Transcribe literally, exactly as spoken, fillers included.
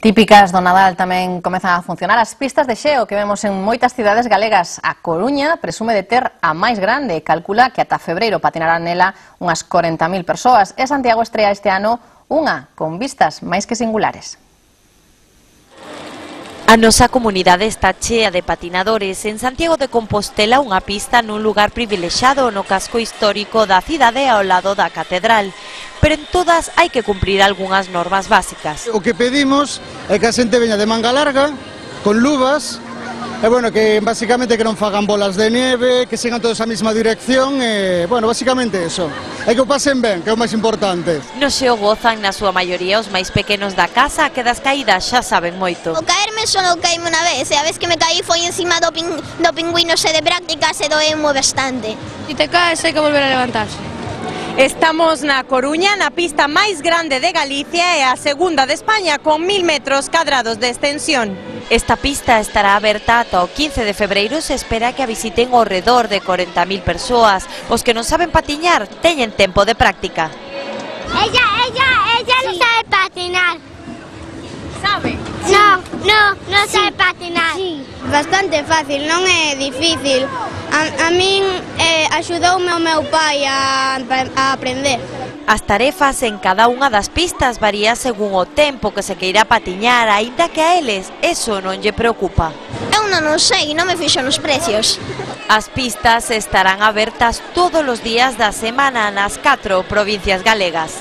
Típicas do Nadal tamén comezan a funcionar as pistas de xeo que vemos en moitas cidades galegas. A Coruña presume de ter a máis grande e calcula que ata febreiro patinarán nela unhas corenta mil persoas. E Santiago estrea este ano unha con vistas máis que singulares. A nosa comunidade está chea de patinadores. En Santiago de Compostela, unha pista nun lugar privilexado no casco histórico da cidade ao lado da catedral. Pero en todas hai que cumprir algunhas normas básicas. O que pedimos é que a xente veña de manga larga, con luvas, e bueno, que basicamente que non fagan bolas de neve, que sigan todos a mesma dirección, e bueno, basicamente eso. E que o pasen ben, que é o máis importante. No xeo gozan na súa maioría os máis pequenos da casa, que das caídas xa saben moito. O caerme só non caíme unha vez, e a vez que me caí foi encima do, pin, do pingüino xe de prácticas e doeu bastante. Si te caes hai que volver a levantarse. Estamos na Coruña, na pista máis grande de Galicia e a segunda de España, con mil metros cadrados de extensión. Esta pista estará aberta ata o quince de febreiro. Se espera que a visiten ao redor de corenta mil persoas. Os que non saben patiñar teñen tempo de práctica. Ella, ella, ella sí. Non sabe patinar. Sabe? Sí. No, no, non sí. sabe patinar. Sí. Bastante fácil, non é difícil. A, a min eh, axudoume o meu pai a, a aprender. As tarefas en cada unha das pistas varía según o tempo que se queira patiñar, aínda que a eles eso non lle preocupa. Eu non o sei, non me fixo nos precios. As pistas estarán abertas todos os días da semana nas catro provincias galegas.